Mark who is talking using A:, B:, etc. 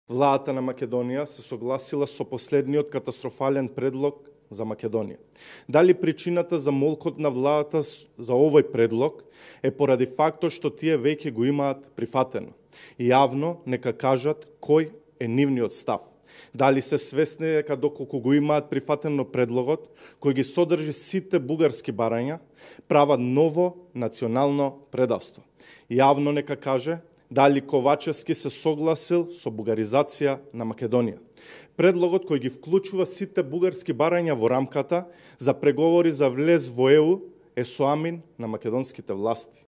A: Владата на Македонија се согласила со последниот катастрофален предлог за Македонија. Дали причината за молкот на владата за овој предлог е поради фактот што тие веќе го имаат прифатено? И јавно нека кажат кој е нивниот став. Дали се свесни дека доколку го имаат прифатено предлогот, кој ги содржи сите бугарски барања, прават ново национално предавство. Јавно нека каже дали Ковачевски се согласил со бугаризација на Македонија. Предлогот кој ги вклучува сите бугарски барања во рамката за преговори за влез во ЕУ е соамин на македонските власти.